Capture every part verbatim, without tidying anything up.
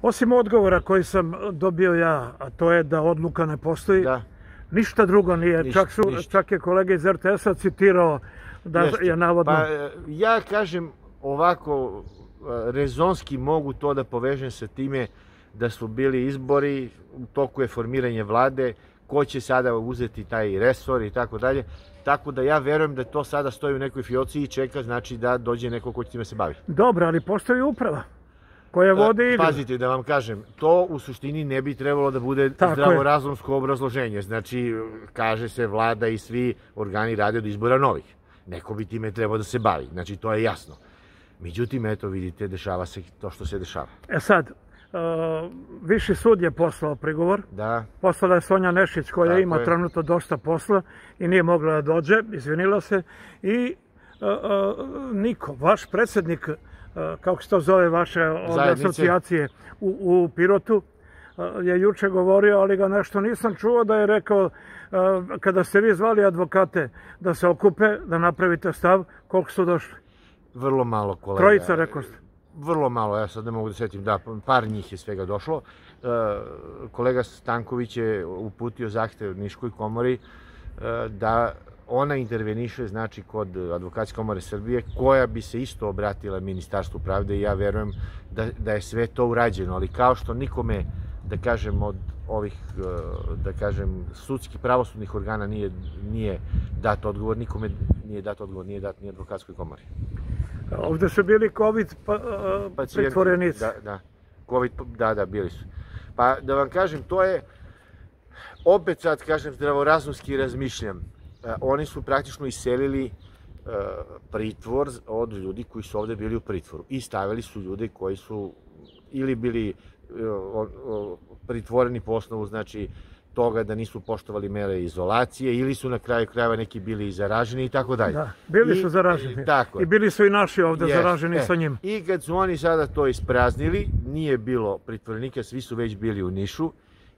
Osim odgovora koji sam dobio ja, a to je da odluka ne postoji, Da. ništa drugo nije. Ništa, čak, su, ništa. čak je kolega iz er te esa citirao da Jeste. je navodno... Pa ja kažem ovako, rezonski mogu to da povežem sa time da su bili izbori, u toku je formiranje vlade, ko će sada uzeti taj resor i tako dalje. Tako da ja verujem da to sada stoji u nekoj fioci i čeka, znači da dođe neko ko će time se bavi. Dobro, ali postoji uprava koja vodi igru. Pazite, da vam kažem, to u suštini ne bi trebalo da bude zdravorazumsko obrazloženje. Znači, kaže se vlada i svi organi rade od izbora novih. Neko bi time trebao da se bavi, znači to je jasno. Međutim, eto vidite, dešava se to što se dešava. E sad, Viši sud je poslao prigovor. Da. Poslala je Sonja Nešić koja ima trenutno dosta posla i nije mogla da dođe, izvinila se. I Niko, vaš predsjednik, kako se to zove, vaše asocijacije u Pirotu, je juče govorio, ali ga nešto nisam čuo da je rekao, kada ste vi zvali advokate da se okupe, da napravite stav, koliko su došli? Vrlo malo, kolega. Trojica, rekao ste. Vrlo malo, ja sad ne mogu da setim, da, par njih je svega došlo. Kolega Stanković je uputio zahtev Niškoj komori da ona interveniše, znači, kod Advokatske komore Srbije, koja bi se isto obratila Ministarstvu pravde i ja verujem da je sve to urađeno, ali kao što nikome, da kažem, od ovih, da kažem, sudskih pravosudnih organa nije dat odgovor, nikome nije dat odgovor, nije dat ni Advokatskoj komori. Ovde su bili COVID pritvorenici. Da, da, COVID, da, da, bili su. Pa da vam kažem, to je, opet sad kažem, zdravorazumski razmišljam. Oni su praktično iselili pritvor od ljudi koji su ovde bili u pritvoru i stavili su ljude koji su ili bili pritvoreni po osnovu, znači, toga da nisu poštovali mere izolacije ili su na kraju krajeva neki bili zaraženi i tako dalje. Da, bili su zaraženi. I bili su i naši ovde zaraženi sa njim. I kad su oni sada to ispraznili, nije bilo pritvorenika, svi su već bili u Nišu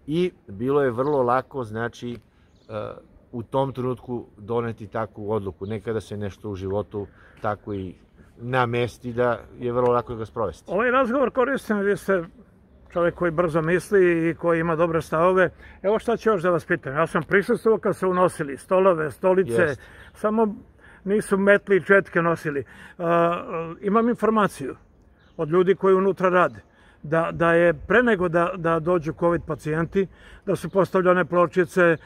i bilo je vrlo lako, znači, u tom trenutku doneti takvu odluku. Nekada se nešto u životu tako i namesti da je vrlo lako ga sprovesti. Ovaj razgovor koristim, vi ste čovjek koji brzo misli i koji ima dobre stavove. Evo šta ću još da vas pitam. Ja sam prisustvovao kad su unosili stolove, stolice, samo nisu metli i četke nosili. Imam informaciju od ljudi koji unutra rade da je pre nego da dođu COVID pacijenti, da su postavljane pločice,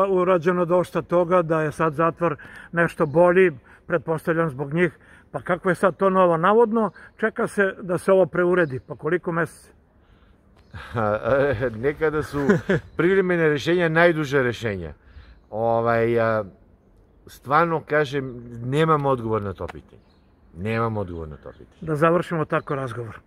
urađeno dosta toga, da je sad zatvor nešto bolji, pretpostavljam zbog njih. Pa kako je sad to novo? Navodno čeka se da se ovo preuredi. Pa koliko meseci? Nekada su privremene rešenja najduža rešenja. Stvarno, kažem, nemam odgovor na to pitanje. Nemam odgovor na to pitanje. Da završimo tako razgovor.